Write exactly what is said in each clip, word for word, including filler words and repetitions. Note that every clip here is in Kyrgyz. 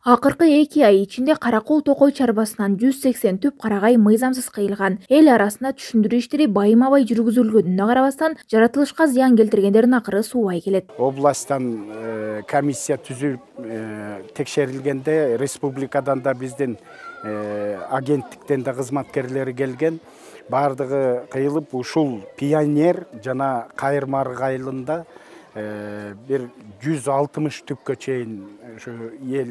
Акыркы эки ай ичинде Каракол Токой чарбасынан жүз сексен түп карагай мыйзамсыз кыйылган. Эл арасында түшүндүрүү иштери байымабай жүргүзүлгөнүнө карабастан, жаратылышка зыян келтиргендердин акыры суубай келет. Областтан э, комиссия түзүлүп э, текшерилгенде республикадан да биздин э, агенттиктен да кызматкерлери келген. Бардыгы кыйылып ушул пионер жана Кайырма айылында бир жүз алтымыш түпкө чейин ушу эл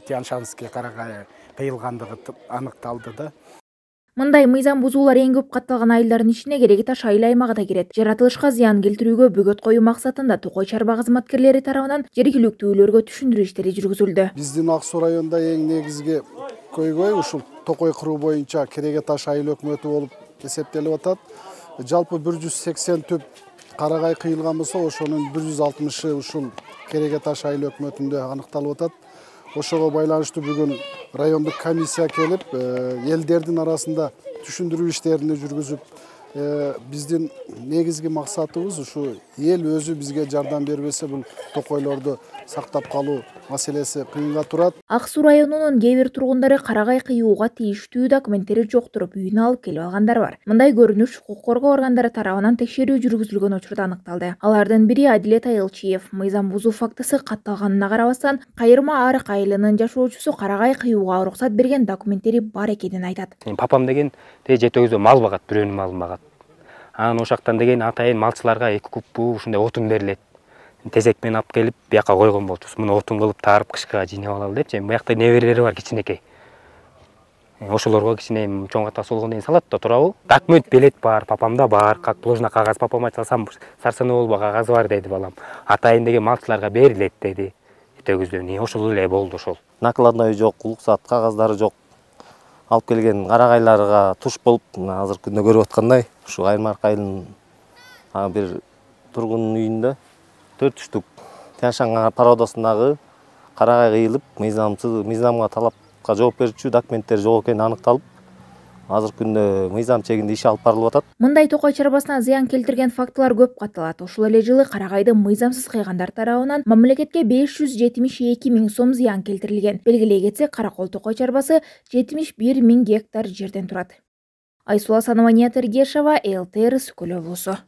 Тянь-Шанский карагай кыйылгандыгы аныкталды да. Мындай мыйзам бузуулар эң көп катталган айылдардын ичине Кереги Таш айыл аймагы да кирет. Жаратылышка зыян келтирүүгө бөгөт коюу максатында Токой чарба кызматкерлери тарабынан жергиликтүүлөргө түшүндүрүү иштери жүргүзүлдү. Биздин Ак Суу районунда эң негизги көйгөй ушул Токой кыруу боюнча Кереги Таш айыл өкмөтү болуп эсептелип атат. Жалпы бир жүз сексен түп карагай кыйылган болсо, ошонун бир жүз алтымышы ушул Кереги Таш айыл өкмөтүндө аныкталып атат. Ошого байланыштуу бүгүн райондук комиссия келип, элдердин арасында түшүндүрүү иштерин жүргүзүп, биздин негизги максатыбыз ушу эл өзү бизге жардам бербесе, бул токойлорду сактап калуу маселеси кыйынга турат. Ак Суу районунун кээ бир тургундары карагай кыюуга тийиштүү документтери жоктуруп, үйүнө алып келип алгандар бар. Мындай көрүнүш укук коргоо органдары тарабынан текшерүү жүргүзүлгөн учурда аныкталды. Алардын бири Адилет Айылчиев. Мыйзам бузуу фактысы катталганына карабастан, Кайырма Арык айылынын жашоочусу карагай кыюуга уруксат берген документтери бар экенин айтат. Папам деген жети өзү мал багат, бирөөнүн малын багат. Анан ошактан деген атайын малчыларга эки куппу ушундай отун берилет. Тезек менен алып келип, бияка койгон болчубуз. Муну отун кылып таарып кышка жыйнап алалы депчи. Буякта неберелери бар кичинекей. Ошолорго кичине чоң ата солгондон кийин салат да турабы. Документ белет бар, папамда бар, как положено кагаз папама чалсам, сарсаны болбо кагазы бар деди балам. Атайын деген малчыларга берилет деди. Өтөгүздөн ошол эле болду ошол. Накладной жок, уруксат кагаздары жок. Алып келген карагайларга туш болуп, азыркы күндө көрүп аткандай, ушу Кайырма айылынын бир тургундун үйүндө төрт штук Тянь-Шань породасындагы карагай кыйылып, мыйзамсыз, мыйзамга талапка жооп берүүчү документтер жок экени аныкталып, азыркы күндө мыйзам чегинде иш алып барылып атат. Мындай Токой чарбасына зыян келтирген фактылар көп катталат. Ошол эле жылы карагайды мыйзамсыз кыйгандар тарабынан мамлекетке беш жүз жетимиш эки миң сом зыян келтирилген. Белгилей кетсек, Каракол Токой чарбасы жетимиш бир миң гектар жерден турат. Айсула Санова, Ният Эргешова, эл тэ эр Сүкөл облусу.